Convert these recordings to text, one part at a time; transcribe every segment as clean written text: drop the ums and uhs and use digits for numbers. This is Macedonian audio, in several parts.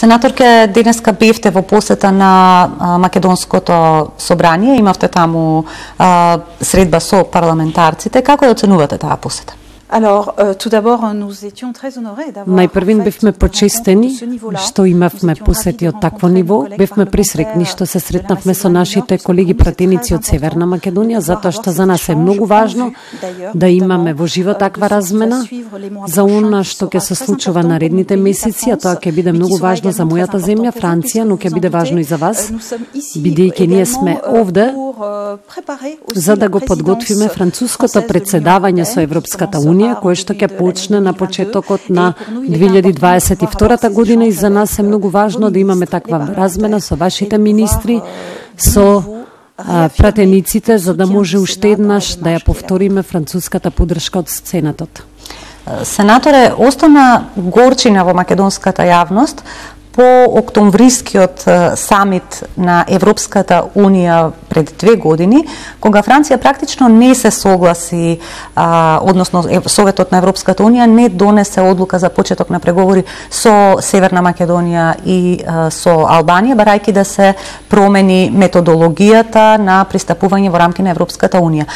Сенаторке, денеска бевте во посета на Македонското собрание, имавте таму средба со парламентарците. Како ја оценувате таа посета? Најпрвин бевме почестени што имавме посети од такво ниво. Бевме присрекни што се сретнавме со нашите колеги пратеници од Северна Македонија, затоа што за нас е многу важно да имаме во живо таква размена за она што ќе се случува наредните месеци, а тоа ќе биде многу важно за мојата земја, Франција, но ќе биде важно и за вас, бидејќи ние сме овде за да го подготвиме француското председавање со Европската Унија, кое што ќе почне на почетокот на 2022 година, и за нас е многу важно да имаме таква размена со вашите министри, со пратениците, за да може уште еднаш да ја повториме француската поддршка од Сенатот. Сенаторе, остана горчина во македонската јавност по октомврискиот самит на Европската Унија пред 2 години, кога Франција практично не се согласи, односно Советот на Европската Унија не донесе одлука за почеток на преговори со Северна Македонија и со Албанија, барајќи да се промени методологијата на пристапување во рамки на Европската Унија.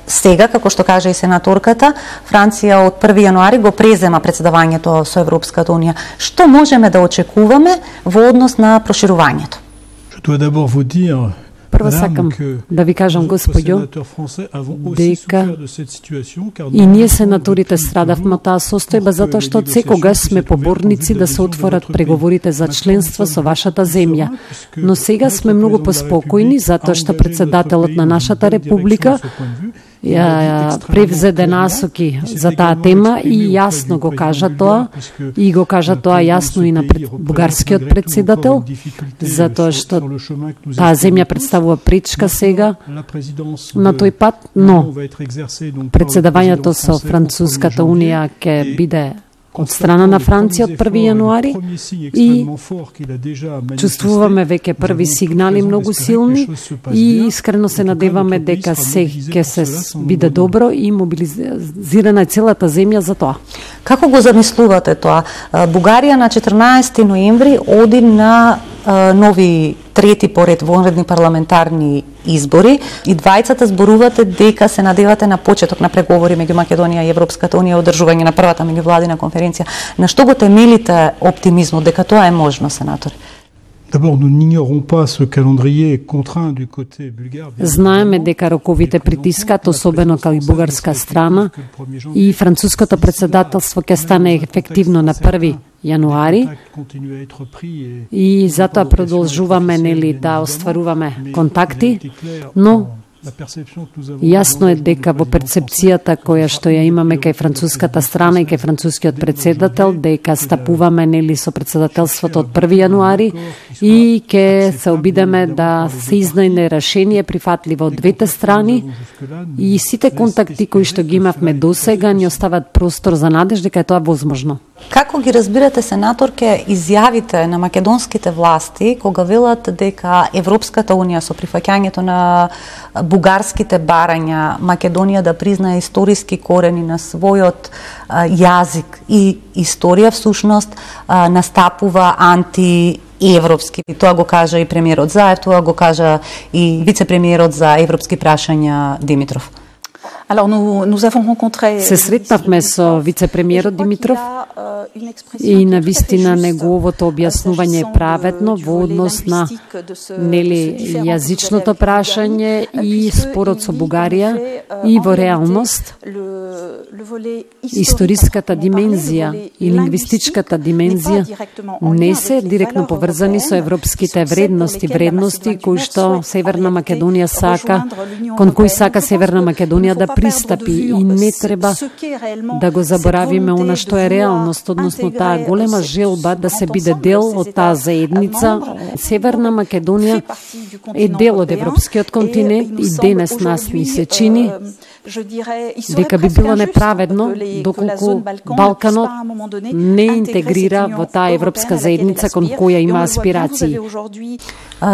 Сега, како што кажа и сенаторката, Франција од 1 јануари го презема председавањето со Европската Унија. Што можеме да очекуваме во однос на проширувањето? Прво сакам да ви кажам, господјо, дека и ние сенаторите страдавме од таа состојба, затоа што од секогаш сме поборници да се отворат преговорите за членство со вашата земја. Но сега сме многу поспокојни, затоа што председателот на нашата република ја превзеде насоки за таа тема и јасно го кажа тоа, и го кажа тоа јасно и на бугарскиот председател, затоа што таа земја представува пречка сега на тој пат, но председавањето со Француската Унија ќе биде од страна на Франција од 1 јануари и чувствуваме веќе први сигнали многу силни и искрено се надеваме дека се ќе се биде добро и мобилизирана е целата земја за тоа. Како го замислувате тоа? Бугарија на 14 ноември оди на нови трети поред вонредни парламентарни избори и двајцата зборувате дека се надевате на почеток на преговори меѓу Македонија и Европската Унија, одржување на првата меѓувладина конференција. На што го темелите оптимизмот дека тоа е можно, сенатори? Знаеме дека роковите притискат, особено кај бугарска страна, и француското председателство ќе стане ефективно на 1 јануари и затоа продолжуваме да остваруваме контакти, но јасно е дека во перцепцијата која што ја имаме кај француската страна и кај францускиот председател, дека стапуваме со председателството од 1 јануари и ќе се обидеме да се изнајде решение прифатливо од двете страни, и сите контакти кои што ги имавме досега ни остават простор за надеж дека е тоа возможно. Како ги разбирате, сенаторке, изјавите на македонските власти кога велат дека Европската Унија со прифаќањето на бугарските барања Македонија да признае историски корени на својот јазик и историја, всушност настапува антиевропски? Тоа го кажа и премиерот Заев, тоа го кажа и вице-премиерот за европски прашања Димитров. Се сретнавме со вице-премиерот Димитров и навистина неговото објаснување е праведно во однос на јазичното прашање и спорот со Бугарија, и во реалност историската димензија и лингвистичката димензија не се директно поврзани со европските вредности кои што Северна Македонија сака, кон кои сака Северна Македонија да пристапи, и не треба да го заборавиме она што е реалност, односно таа голема желба да се биде дел од таа заедница. Северна Македонија е дел од европскиот континент и денес нас ни се чини дека би било неправедно доколку Балканот не интегрира во таа европска заедница кон која има аспирации.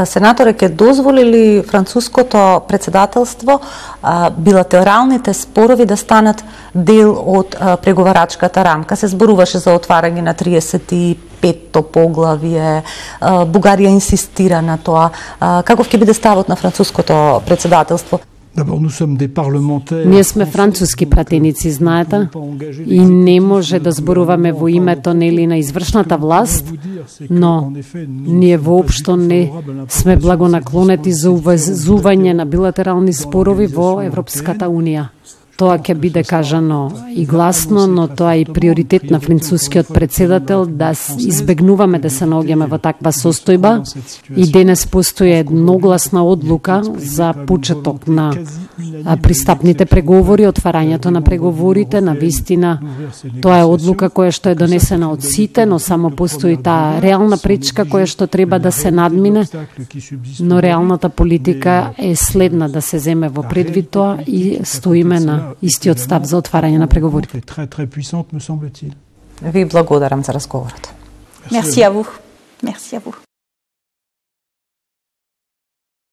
Сенаторе, ќе дозволи ли француското председателство билатералните спорови да станат дел од преговарачката рамка. Се зборуваше за отварање на 35-то поглавие. Бугарија инсистира на тоа. Каков ќе биде ставот на француското председателство? Ние сме француски пратеници, знаете, и не може да зборуваме во името нели на извршната власт, но ние воопшто не сме благонаклонети за увезување на билатерални спорови во Европската унија. Тоа ќе биде кажано и гласно, но тоа е и приоритет на францускиот председател да избегнуваме да се наоѓаме во таква состојба. И денес постои едногласна одлука за почеток на пристапните преговори, отварањето на преговорите. На вистина тоа е одлука која што е донесена од сите, но само постои таа реална пречка која што треба да се надмине, но реалната политика е следна да се земе во предвид тоа и стоиме на истиот став за отварање на преговорите. Ви благодарам за разговорот. Merci à vous. Merci à vous.